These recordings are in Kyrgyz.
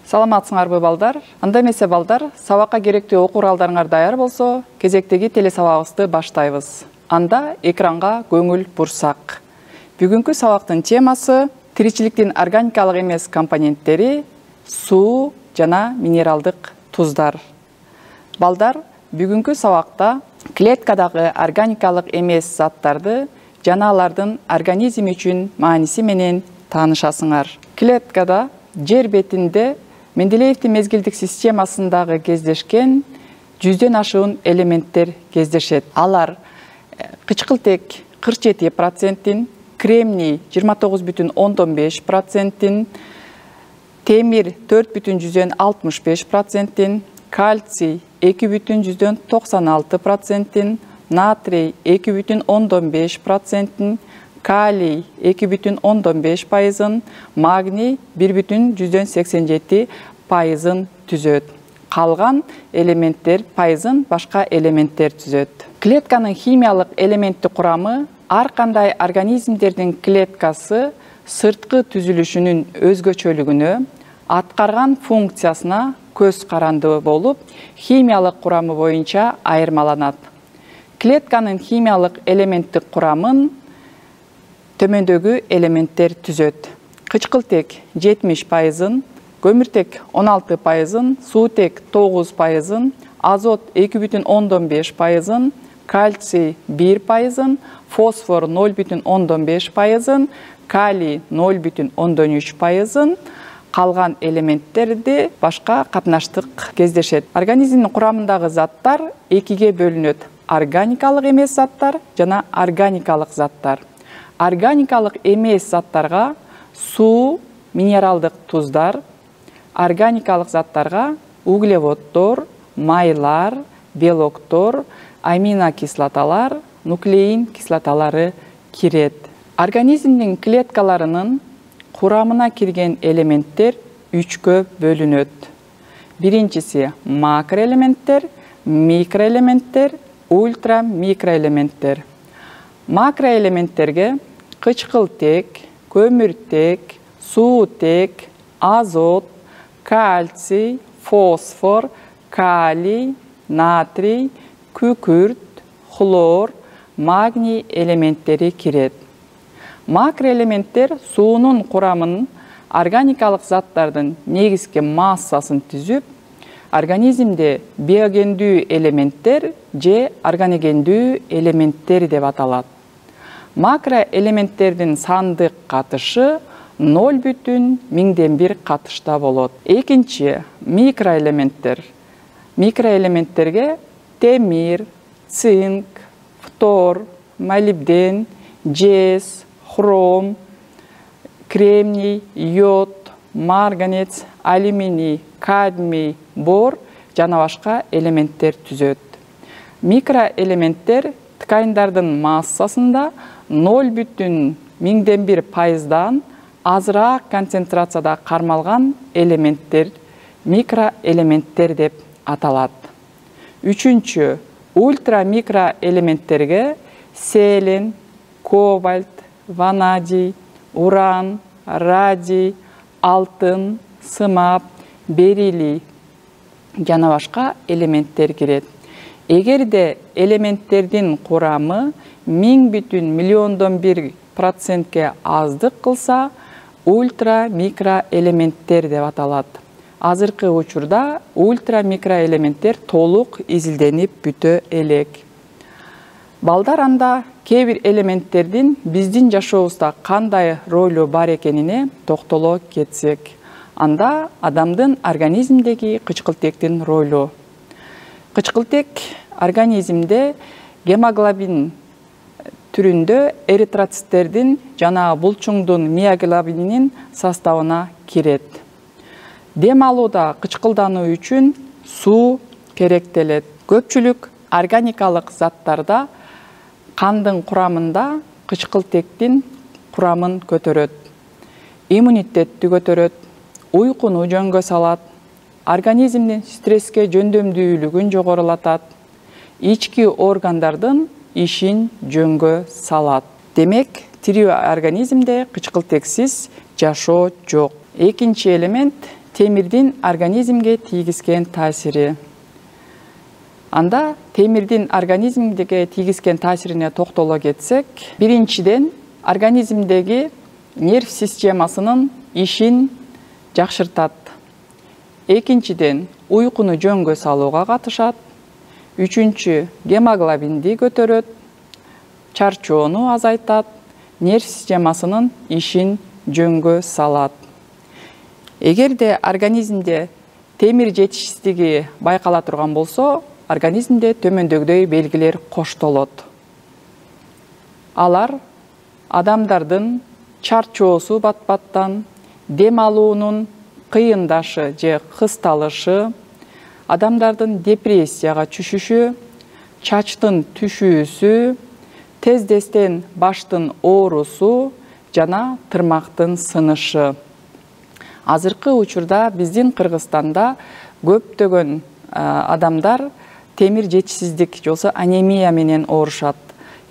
Саламатсыңарбы балдар? Анда эмесе балдар, сабакка керектүү окуу куралдарыңар даяр болсо, кезектеги телесабагыбызды баштайбыз. Анда экранга көңүл бурсак. Бүгүнкү сабактын темасы тиричиликтин органикалык эмес компоненттери, суу жана минералдык туздар. Балдар, бүгүнкү сабакта клеткадагы органикалык эмес заттарды жана алардын организм үчүн мааниси менен таанышасыңар. Клеткада жер бетинде Менделеевдин мезгилдик системасындагы кездешкен 100дөн ашуун элементтер кездешет. Алар кычкылтек 47%, кремний 29,5%, темир 4,65%, кальций 2,96%, натрий 2,15%, калий 2,15%, магний 1,87% түзөт. Калган элементтер пайызын башка элементтер түзөт. Клетканын химиялык элементтик курамы ар кандай организмдердин клеткасы сырткы түзүлүшүнүн өзгөчөлүгүнө, аткарган функциясына көз каранды болуп, химиялык курамы боюнча айырмаланат. Клетканын химиялык элементтик курамын төмөндөгү элементтер түзөт. Кычкылтек 70%, көмүртек 16%, суутек 9%, азот 2,15%, кальций 1%, фосфор 0,15%, калий 0,13%, калган элементтерди башка катнаштык кездешет. Организмдин курамындагы заттар экиге бөлүнөт: органикалык эмес заттар жана органикалык заттар. Органикалык эмес заттарга суу, минералдык туздар, органикалык заттарга углеводдор, майлар, белоктор, аминокислоталар, нуклеин кислоталары кирет. Организмдин клеткаларынын курамына кирген элементтер үчкө бөлүнөт. Биринчиси макроэлементтер, микроэлементтер, ультрамикроэлементтер. Макроэлементтерге кычкылтек, көмүртек, суутек, азот, кальций, фосфор, калий, натрий, күкүрт, хлор, магний элементтери кирет. Макроэлементтер суунун курамын, органикалык заттардын негизги массасын түзүп, организмде биогендүү элементтер же органогендүү элементтер деп аталат. Макроэлементтердин сандык катышы 0,1 катышта болот. Экинчи микроэлементтер. Микроэлементтерге темир, цинк, фтор, молибден, жез, хром, кремний, йод, марганец, алюминий, кадмий, бор жана башка элементтер түзөт. Микроэлементтер тканьдардын массасында 0,1% азыраак концентрацияда кармалган элементтер микроэлементтер деп аталат. Үчүнчү, ультрамикроэлементтерге селен, кобальт, ванадий, уран, радий, алтын, сымап, бериллий жана башка элементтер кирет. Эгерде элементтердин курамы 1/1000,000% аздык кылса, ультрамикроэлементтер деп аталат. Азыркы учурда ультрамикроэлементтер толук изилденип бүтө элек. Балдар, анда кээ бир элементтердин биздин жашообузда кандай ролу бар экенине токтоло кетсек. Анда адамдын организмдеги кычкылтектин ролу. Кычкылтек организмде гемоглобин түрүндө эритроциттердин жана булчуңдун миоглобининин составына кирет. Дем алууда кычкылдануу үчүн суу керектелет. Көпчүлүк органикалык заттарда кандын курамында кычкылтектин курамын көтөрөт. Иммунитетти көтөрөт, уйкуну жөнгө салат, организмдин стресске жөндөмдүүлүгүн жогорулатат, ички органдардын ишин жөнгө салат. Демек, тирүү организмде кычкылтексиз жашоо жок. Экинчи элемент темирдин организмге тийгизген таасири. Анда темирдин организмге тийгизген таасирине токтоло кетсек, биринчиден организмдеги нерв системасынын ишин жакшыртат. Экинчиден уйкуну жөнгө салууга катышат. Үчүнчү, гемоглобинди көтөрөт, чарчоону азайтат, нерв системасынын ишин жөнгө салат. Эгерде организмде темир жетишсиздиги байкала турган болсо, организмде төмөндөгүдөй белгилер коштолот. Алар адамдардын чарчоосу бат-баттан, дем алуунун кыйындашы же кысталышы, адамдардын депрессияга түшүшү, чачтын түшүүсү, тездестен баштын оорусу жана тырмактын сынышы. Азыркы учурда биздин Кыргызстанда көптөгөн адамдар темир жетишсиздик же болбосо анемия менен оорушат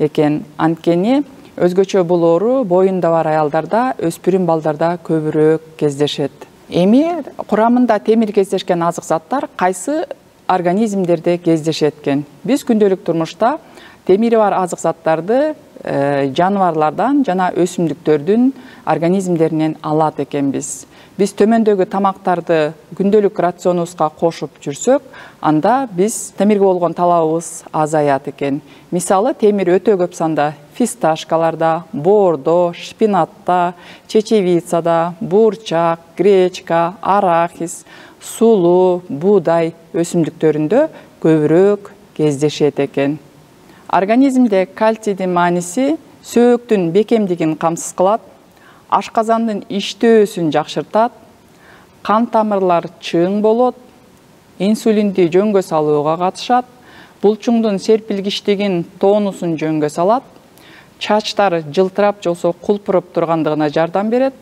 экен. Анткени өзгөчө бул оору боюнда бар аялдарда, өспүрүм балдарда көбүрөөк кездешет. Эми курамында темир кездешкен азык заттар кайсы организмдерде кездешет экен? Биз күндөлүк турмушта темири бар азык заттарды жаныбарлардан жана өсүмдүктөрдүн организмдеринен алат экенбиз. Биз төмөндөгү тамактарды күндөлүк рационубузга кошуп жүрсөк, анда биз темирге болгон талабыбыз азаят экен. Мисалы, темир өтө көп санда фисташкаларда, боордо, шпинатта, чечевицада, бурчак, гречка, арахис, сулуу, буудай өсүмдүктөрүндө көбүрөөк кездешет экен. Организмде кальцийдин мааниси сөөктүн бекемдигин камсыз кылат, ашказандын иштөөсүн жакшыртат, кан тамырлар чың болот, инсулинди жөнгө салууга катышат, булчуңдун серпилгичтигин, тонусун жөнгө салат, чачтар жылтырап же болбосо кулпуруп тургандыгына жардам берет,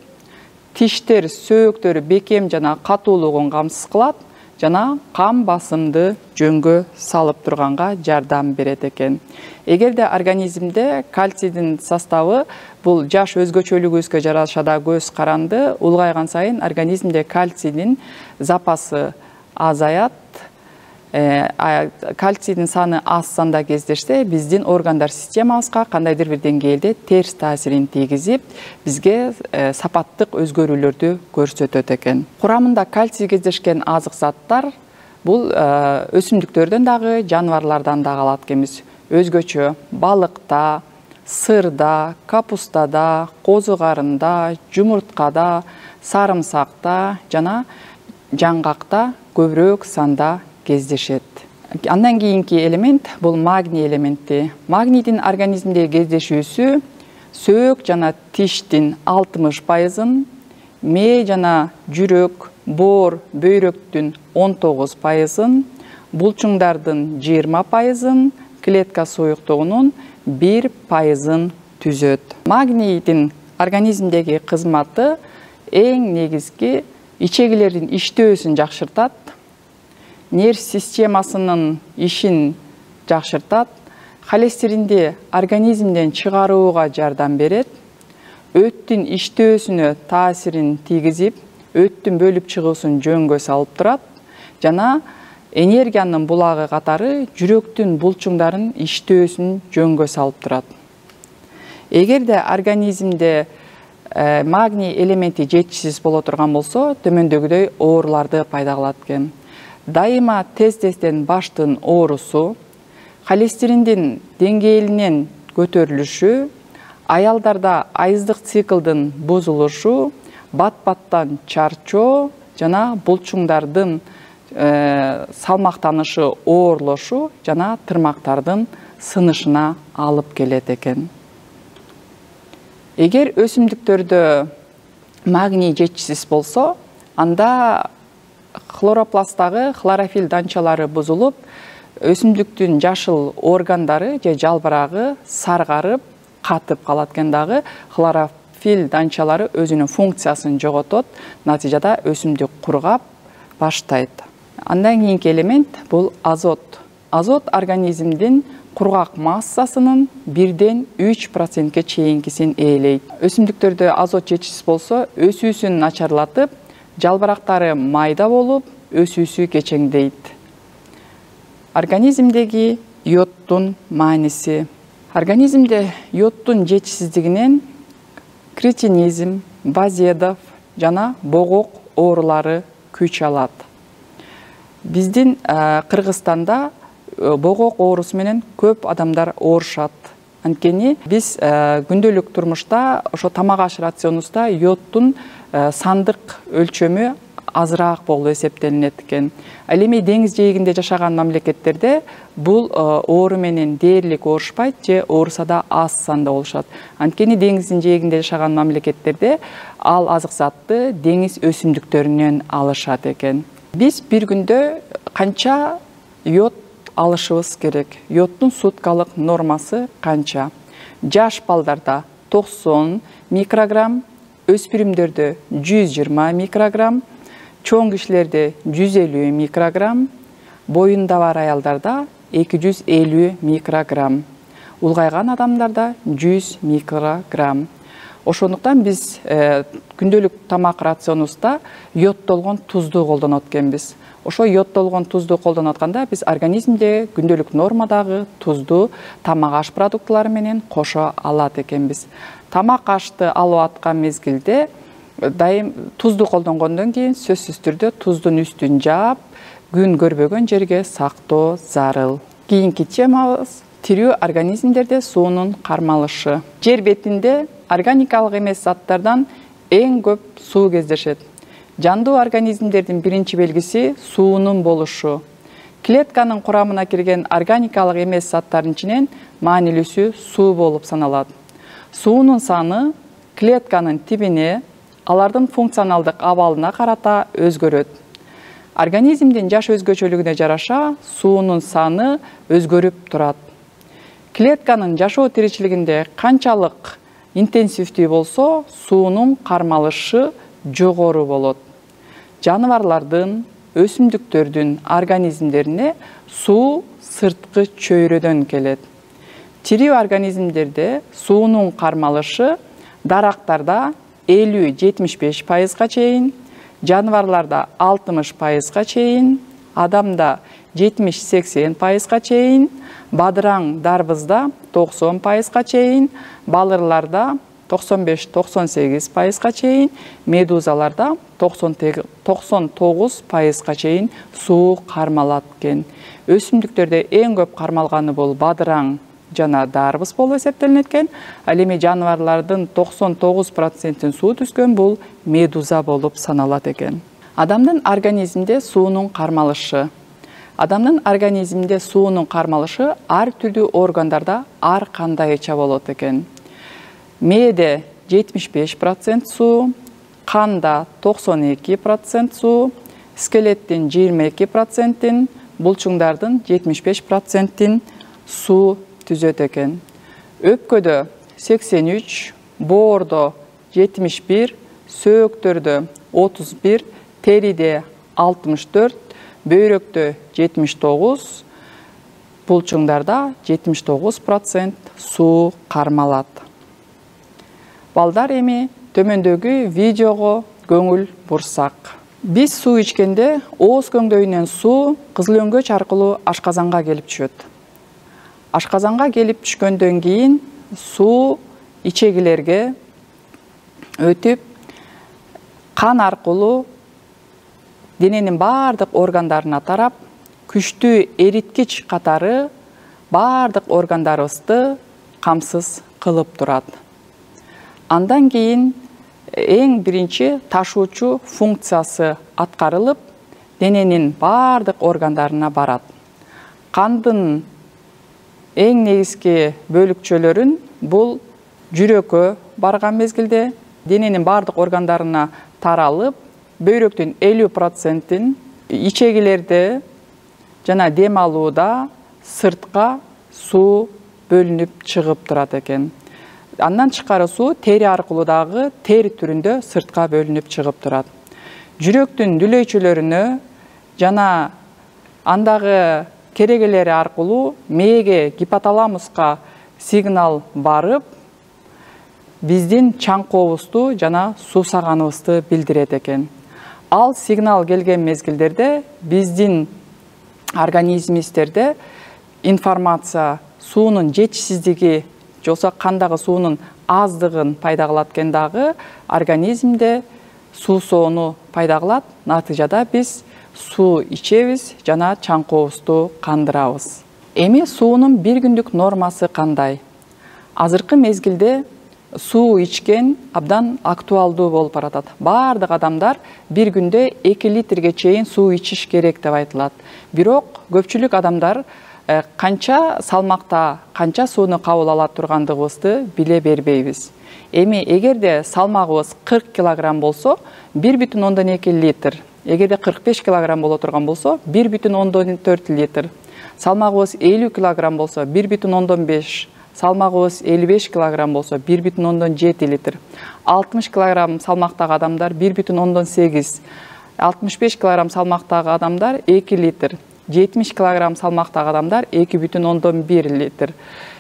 тиштер, сөөктөр бекем жана катуулугун камсыз кылат, жана кан басымды жөнгө салып турганга жардам берет экен. Эгерде организмде кальцийдин составы бул жаш өзгөчөлүгүбүзгө жараша да көз каранды, улгайган сайын организмде кальцийдин запасы азаят. Кальцийдин саны аз санда кездешсе, биздин органдар системабызга кандайдыр бир деңгээлде терс таасирин тийгизип, бизге сапаттык өзгөрүүлөрдү көрсөтөт экен. Курамында кальций кездешкен азык заттар бул өсүмдүктөрдөн дагы, жаныбарлардан дагы алат экенбиз. Өзгөчө балыкта, сырда, капустада, козу карында, жумурткада, сарымсакта жана жаңгакта көбүрөөк санда кездешет. Андан кийинки элемент бул магний элементи. Магнийдин организмде кездешүүсү сөөк жана тиштин 60%, мээ жана жүрөк, боор, бөйрөктүн 19%, булчуңдардын 20%, клетка суюктугунун 1%-ын түзөт. Магнийдин организмдеги кызматы эң негизги ичегилердин иштөөсүн жакшыртат, нерв системасынын ишин жакшыртат, холестеринди организмден чыгарууга жардам берет, өттүн иштөөсүнө таасирин тийгизип, өттүн бөлүп чыгуусун жөнгө салып турат, жана энергиянын булагы катары жүрөктүн булчуңдарын иштөөсүн жөнгө салып турат. Эгерде организмде магний элементи жетишсиз боло турган болсо, төмөндөгүдөй ооруларды пайда кылат экен. Дайыма тез-тезден баштын оорусу, холестериндин деңгээлинин көтөрүлүшү, аялдарда айыздык циклдын бузулушу, бат-баттан чарчоо жана булчуңдардын салмактанышы, оорлошу жана тырмактардын сынышына алып келет экен. Эгер өсүмдүктөрдө магний жетишсиз болсо, анда хлоропласттагы хлорофилл данчалары бузулуп, өсүмдүктүн жашыл органдары же жалбырагы саргарып, катып калат экен дагы. Хлорофилл данчалары өзүнүн функциясын жоготот, натыйжада өсүмдүк кургап баштайт. Андан кийинки элемент бул азот. Азот организмдин кургак массасынын 1–3%ке чейинкисин ээлейт. Өсүмдүктөрдө азот жетишсиз болсо, өсүүсүн начарлатып, жалбырактары майда болуп, өсүүсү кечеңдейт. Организмдеги йоддун мааниси. Организмде йоддун жетишсиздигинен кретинизм, Базедов жана богок оорулары күч алат. Биздин Кыргызстанда богок оорусу менен көп адамдар оорушат. Анткени биз күндөлүк турмушта ошо тамак аш рационубузда йоддун сандык өлчөмү азыраак болуп эсептелинет экен. Ал эми деңиз жээгинде жашаган мамлекеттерде бул оору менен дээрлик оорушпайт же ооруса да аз санда болушат. Анткени деңиздин жээгинде жашаган мамлекеттерде ал азык затты деңиз өсүмдүктөрүнөн алышат экен. Биз бир күндө канча йод алышыбыз керек? Йоддун суткалык нормасы канча? Жаш балдарда 90 микрограмм, өспүрүмдөрдө 120 микрограмм, чоң кишилерде 150 микрограмм, боюнда бар аялдарда 250 микрограмм, улгайган адамдарда 100 микрограмм. Ошондуктан биз күндөлүк тамак рационубузда йоддолгон тузду колдонот экенбиз. Ошо йоддолгон тузду колдонуп атканда биз организмде күндөлүк нормадагы тузду тамак аш продуктулары менен кошо алат экенбиз. Тамак ашты алып аткан мезгилде дайым тузду колдонгондон кийин сөзсүз түрдө туздун үстүн жаап, күн көрбөгөн жерге сактоо зарыл. Кийинки темабыз тирүү организмдерде суунун кармалышы. Жер бетинде органикалык эмес заттардан эң көп суу кездешет. Жандуу организмдердин биринчи белгиси суунун болушу. Клетканын курамына кирген органикалык эмес заттардын ичинен маанилүүсү суу болуп саналат. Суунун саны клетканын тибине, алардын функционалдык абалына карата өзгөрөт. Организмдин жаш өзгөчөлүгүнө жараша суунун саны өзгөрүп турат. Клетканын жашоо тиричилигинде канчалык интенсивдүү болсо, суунун кармалышы жогору болот. Жаныбарлардын, өсүмдүктөрдүн организмдерине суу сырткы чөйрөдөн келет. Тирүү организмдерде суунун кармалышы дарактарда 50-75%га чейин, жаныбарларда 60%га чейин, адамда 70-80%га чейин, бадыраң дарбызда 90%га чейин, балырларда 95-98%га чейин, медузаларда 99%га чейин суу кармалат экен. Өсүмдүктөрдө эң көп кармалганы бул бадыраң жана дарбыз болуп эсептелинет экен. Ал эми жаныбарлардын 99%-ин суу түзгөн бул медуза болуп саналат экен. Адамдын организмде суунун кармалышы. Адамдын организмде суунун кармалышы ар түрдүү органдарда ар кандайча болот экен. Мээде 75% суу, канда 92% суу, скелеттин 22%, булчуңдардын 75%-ин суу түзөт экен. Өпкөдө 83, боордо 71, сөөктөрдө 31, териде 64, бөйрөктө 79, булчуңдарда 79% суу кармалат. Балдар эми төмөндөгү видеого көңүл бурсак. Биз суу ичкенде ооз көңдөйүнөн суу кызыл өңгөч аркылуу ашказанга келип түшөт. Ашказанга келип түшкөндөн кийин суу ичегилерге өтүп, кан аркылуу дененин баардык органдарына тарап, күчтүү эриткич катары баардык органдарыбызды камсыз кылып турат. Андан кийин эң биринчи ташуучу функциясы аткарылып, дененин баардык органдарына барат. Кандын эң негизги бөлүкчөлөрүн бул жүрөккө барган мезгилде дененин баардык органдарына таралып, бөйрөктүн 50%-ин ичегилерде жана дем алууда сыртка суу бөлүнүп чыгып турат экен. Андан тышкары суу тери аркылуу дагы тер түрүндө сыртка бөлүнүп чыгып турат. Жүрөктүн дүлөйчөлөрүнө жана андагы керегелери аркылуу мээге, гипоталамуска сигнал барып, биздин чаңкообузду жана суусаганыбызды билдирет экен. Ал сигнал келген мезгилдерде биздин организмибизде информация суунун жетишсиздиги же болбосо кандагы суунун аздыгын пайда кылат экен дагы организмде суу соону пайда кылат. Натыйжада биз суу ичебиз жана чаңкообузду кандырабыз. Эми суунун бир күндүк нормасы кандай? Азыркы мезгилде суу ичкен абдан актуалдуу болуп баратат. Бардык адамдар бир күндө 2 литрге чейин суу ичиш керек деп айтылат. Бирок көпчүлүк адамдар канча салмакта, канча сууну кабыл ала тургандыгыбызды биле бербейбиз. Эми эгерде салмагыбыз 40 килограмм болсо, 1,2 литр. Эгерде 45 килограмм боло турган болсо, 1,4 литр. Салмагыбыз 50 килограмм болсо, 1,5. Салмагыбыз 55 килограмм болсо, 1,7 литр. 60 килограмм салмактагы адамдар 1,8. 65 килограмм салмактагы адамдар 2 литр. 70 килограмм салмактагы адамдар 2,1 литр.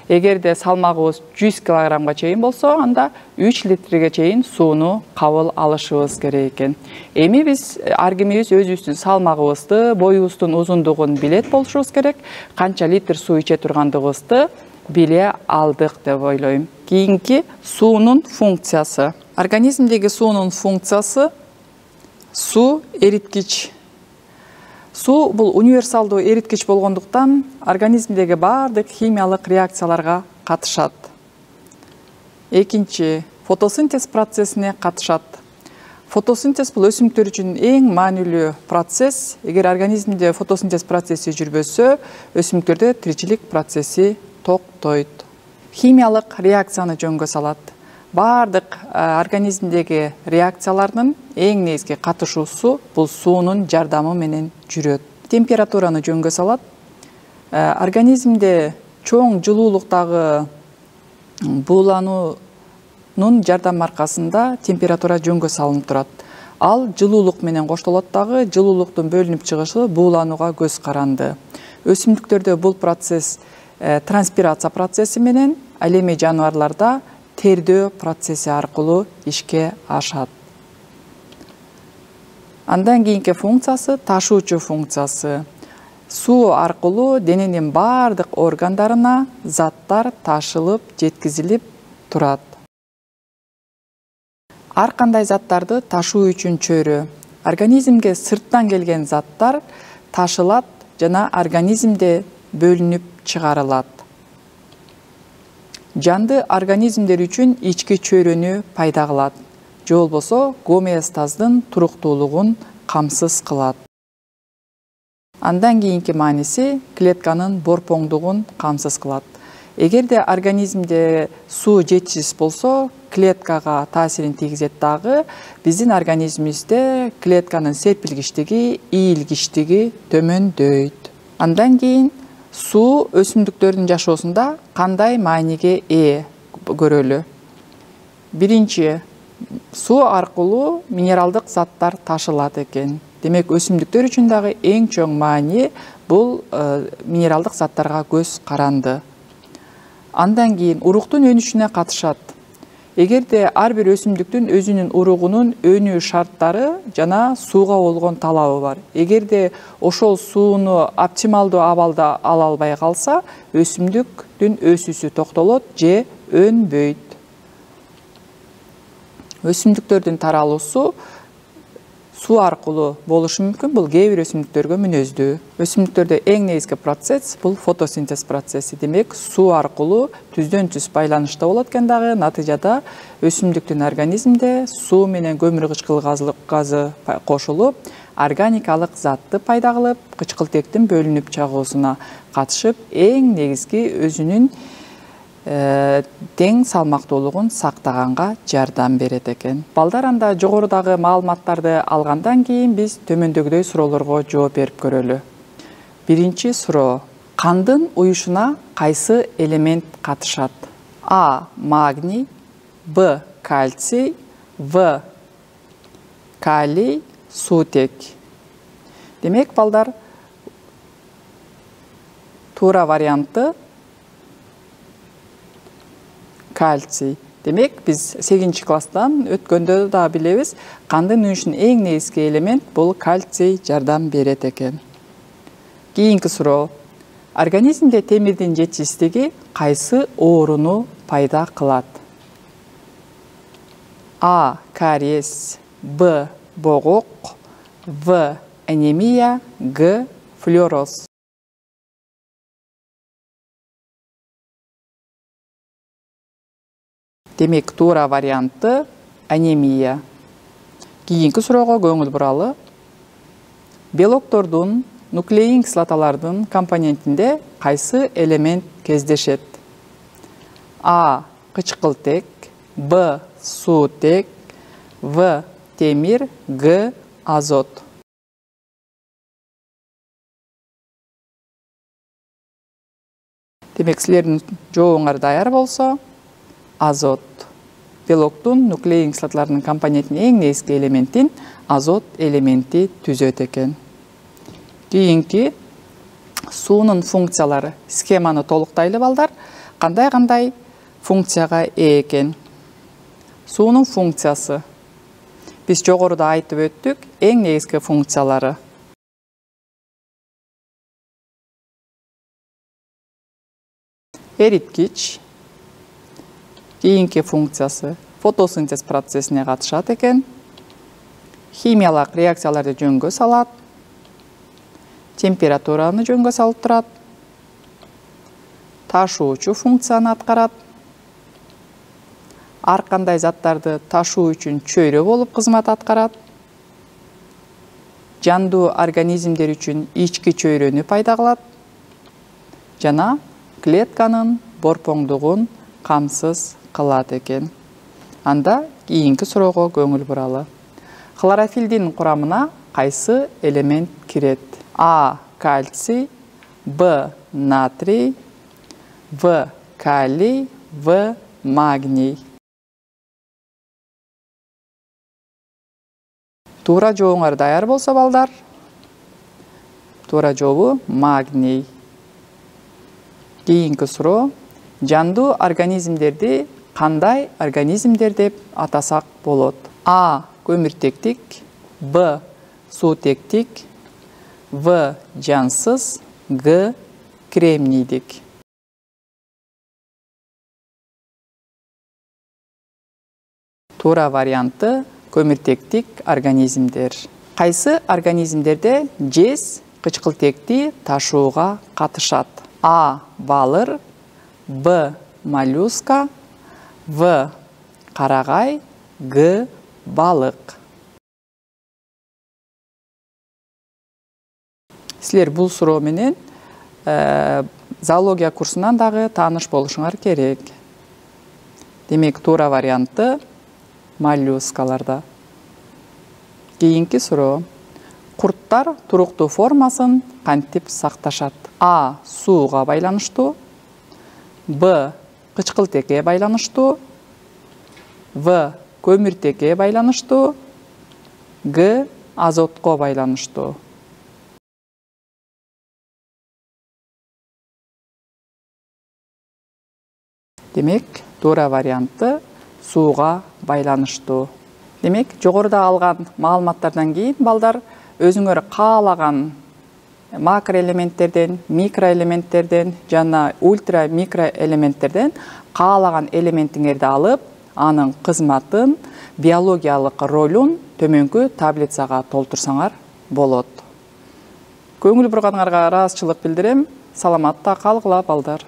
Эгерде салмагыбыз 100 килограммга чейин болсо, анда 3 литрге чейин сууну кабыл алышыбыз керек экен. Эми биз ар кимибиз өзүбүздүн салмагыбызды, боюбуздун узундугун билет болушубуз керек. Канча литр суу иче тургандыгыбызды биле алдык деп ойлойм. Кийинки суунун функциясы. Организмдеги суунун функциясы суу эриткич. Суу бул универсалдуу эриткич болгондуктан организмдеги бардык химиялык реакцияларга катышат. Экинчи, фотосинтез процессине катышат. Фотосинтез бул өсүмдүктөр үчүн эң маанилүү процесс. Эгер организмде фотосинтез процесси жүрбөсө, өсүмдүктөрдө тиричилик процесси токтойт. Химиялык реакцияны жөнгө салат. Бардык организмдеги реакциялардын эң негизги катышуусу бул суунун жардамы менен жүрөт. Температураны жөнгө салат. Организмде чоң жылуулуктагы буулануунун жардамы аркасында температура жөнгө салынып турат. Ал жылуулук менен коштолот дагы, жылуулуктун бөлүнүп чыгышы бууланууга көз каранды. Өсүмдүктөрдө бул процесс транспирация процесси менен, ал эми жаныбарларда тердөө процесси аркылуу ишке ашат. Андан кийинки функциясы ташуучу функциясы. Суу аркылуу дененин бардык органдарына заттар ташылып, жеткизилип турат. Ар кандай заттарды ташуу үчүн чөйрө. Организмге сырттан келген заттар ташылат жана организмде бөлүнүп чыгарылат. Жанды организмдер үчүн ички чөйрөнү пайда кылат. Же болбосо гомеостаздын туруктуулугун камсыз кылат. Андан кийинки мааниси клетканын борпоңдугун камсыз кылат. Эгерде организмде суу жетишсиз болсо, клеткага таасирин тийгизет дагы, биздин организмибизде клетканын серпилгичтиги, ийилгичтиги төмөндөйт. Андан кийин суу өсүмдүктөрдүн жашоосунда кандай мааниге ээ көрөлү? Биринчи, суу аркылуу минералдык заттар ташылат экен. Демек, өсүмдүктөр үчүн дагы эң чоң маани бул минералдык заттарга көз каранды. Андан кийин уруктун өнүшүнө катышат. Эгерде ар бир өсүмдүктүн өзүнүн уругунун өнүү шарттары жана сууга болгон талабы бар. Эгерде ошол сууну оптималдуу абалда ала албай калса, өсүмдүктүн өсүүсү токтолот же өнбөйт. Өсүмдүктөрдүн таралуусу суу аркылуу болушу мүмкүн. Бул кээ бир өсүмдүктөргө мүнөздүү. Өсүмдүктөрдө эң негизги процесс бул фотосинтез процесси. Демек, суу аркылуу түздөн түз байланышта болот экен дагы. Натыйжада өсүмдүктүн организмде суу менен көмүр кычкыл газы кошулуп, органикалык затты пайда кылып, кычкылтектин бөлүнүп чыгуусуна катышып, эң негизги өзүнүн тең салмактуулугун сактаганга жардам берет экен. Балдар, анда жогорудагы маалыматтарды алгандан кийин биз төмөндөгүдөй суроолорго жооп берип көрөлү. Биринчи суроо: кандын уюшуна кайсы элемент катышат? А. Магний, Б. Кальций, В. Калий, суутек. Демек, балдар, туура варианты кальций. Демек, биз 8-класстан өткөндө да билебиз, кандын үнүшүн эң негизги элемент бул кальций жардам берет экен. Кийинки суроо. Организмде темирдин жетишсиздиги кайсы ооруну пайда кылат? А. Кариес, Б. Богок, В. Анемия, Г. Флюороз. Демек, туура варианты анемия. Кийинки суроого көңүл буралы. Белоктордун, нуклеин кислоталардын компонентинде кайсы элемент кездешет? А. Кычкылтек, Б. Суутек, В. Темир, Г. Азот. Демек, силердин жообуңар даяр болсо, азот. Белоктун, нуклеин кислоталарынын компонентинин эң негизги элементин азот элементи түзөт экен. Кийинки суунун функциялары. Схеманы толуктайлы балдар. Кандай функцияга ээ экен? Суунун функциясы. Биз жогоруда айтып өттүк, эң негизги функциялары. Эриткич. Кийинки функциясы фотосинтез процессине катышат экен. Химиялык реакцияларды жөнгө салат. Температураны жөнгө салып турат. Ташуучу функцияны аткарат. Ар кандай заттарды ташуу үчүн чөйрө болуп кызмат аткарат. Жандуу организмдер үчүн ички чөйрөнү пайда кылат. Жана клетканын борпоңдугун камсыз кылат экен. Анда кийинки суроого көңүл буралы. Хлорофилдин курамына кайсы элемент кирет? А. Кальций, Б. Натрий, В. Калий, В. Магний. Туура жообуңар даяр болсо балдар. Туура жообу магний. Кийинки суроо. Жандуу организмдерди кандай организмдер деп атасак болот? А. Көмүртектик, Б. Суутектик, В. Жансыз, Г. Кремнийдик. Туура варианты көмүртектик организмдер. Кайсы организмдерде жез кычкылтекти ташууга катышат? А. Балыр, Б. Моллюска, В. Карагай, Г. Балык. Силер бул суроо менен зоология курсунан дагы тааныш болушуңар керек. Демек, туура варианты моллюскаларда. Кийинки суроо. Курттар туруктуу формасын кантип сакташат? А. Сууга байланыштуу, Б. Кычкылтекке байланыштуу, В. Көмүртекке байланыштуу, Г. Азотко байланыштуу. Демек, туура варианты сууга байланыштуу. Демек, жогоруда алган маалыматтардан кийин балдар өзүңөр каалаган макроэлементтерден, микроэлементтерден жана ультра микроэлементтерден каалаган элементиңерди алып, анын кызматын, биологиялык ролун төмөнкү таблицага толтурсаңар болот. Көңүл бурганыңарга ыраазычылык билдирем. Саламатта калгыла балдар.